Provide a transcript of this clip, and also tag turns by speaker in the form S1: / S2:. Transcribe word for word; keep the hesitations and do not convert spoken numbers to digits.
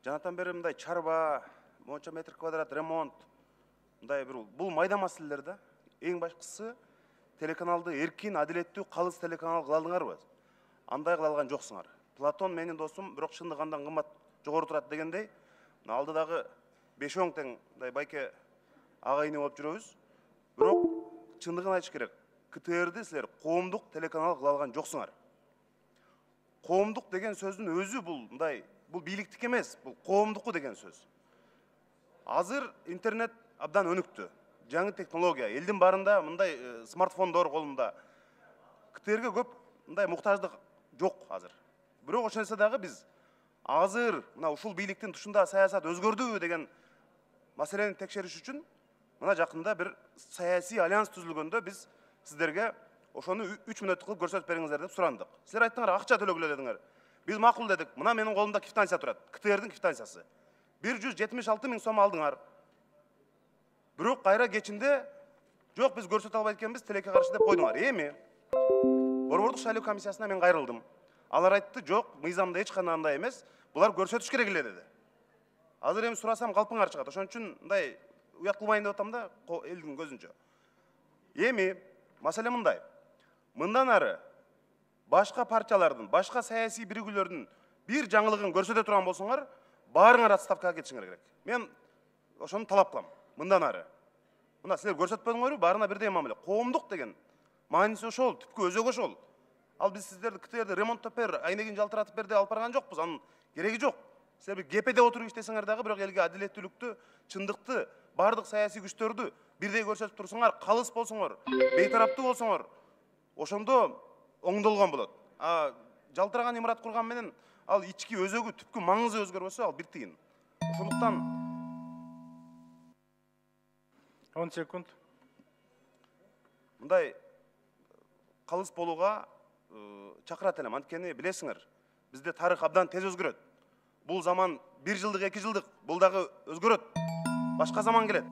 S1: жанатан бери мындай чарба, монча метр квадрат ремонт, мындай бир бул майда маселелер да. Эң башкысы телеканалды эркин, адилеттүү, калыс телеканал кыла алдыңарбы? Андай кыла алган жоксуңар. Платон менин досум, бирок чындык андан кымбат жогору турат дегендей, алдыдагы беш он тең мындай байке агайыны болуп жүрөбүз. Бирок чындыгын айтыш керек. КТРди силер коомдук телеканал кыла алган жоксуңар. Коомдук деген сөздүн өзү бул мындай, бул бийликтик эмес, бул коомдуку деген сөз. Азыр интернет абдан өнүктү. Жаңы технология, элдин барында мындай смартфондор колунда. КТРге көп мындай муктаждык жок азыр. Бирок ошол нерсе дагы биз азыр мына ушул бийликтин тушунда саясат өзгөрдүбү деген маселени текшериш үчүн мына жакында бир саясий альянс түзүлгөндө биз сиздерге ошону үч мүнөттүк кылып көрсөтүп бериңиздер деп сурандык. Силер айттыңар, акча төлөгүлө дедиңер. Биз макул дедик. Мына менин колумда квитанция турат. КТРдин квитанциясы. бир жүз жетимиш алты миң сом алдыңар. Бирок кайра кечинде жок, биз көрсөтө албайт экенбиз, тилекке каршы деп койдуңар. Эми Борбордук шайлоо комиссиясына мен кайрылдым. Алар айтты, жок, мыйзамда эч кандай андай эмес, булар көрсөтүш керек эле деди. Азыр эми сурасам калпыңар чыгат. Ошон үчүн мындай уят кылбайын деп атам да, элдин көзүнчө. Эми маселе мындай. Мындан ары башка партиялардын, башка саясий биригүүлөрдүн бир жаңылыгын көрсөтө турган болсоңор, баарыңар отставкага кетишиңер керек. Мен ошону талап кылам. Мындан ары. Мына силер көрсөтпөдүңөрбү, баарына бирдей мамиле. Коомдук деген мааниси ошол, түпкү өзөгү ошол. Ал биз сиздерди КТРди ремонттоп бер, айнегин жалтыратып бер деп алып барган жокпуз. Анын кереги жок. Силер бир ГПде отуруп иштесеңер дагы, бирок элге адилеттүүлүктү, чындыкты, бардык саясий күчтөрдү бирдей көрсөтүп турсуңар, калыс болсоңор, бейтараптуу болсоңор, ошондо оңдолгон болот. А жалтыраган имарат курган менен ал ички өзөгү, түпкү маңызы өзгөрбөсө, ал бир тыйын. Ошондуктан
S2: он секунд.
S1: Мындай калыс болууга чакырат элем. Анткени билесиңер, бизде тарых абдан тез өзгөрөт. Бул заман бир жылдык, эки жылдык, бул дагы өзгөрөт. Башка заман келет.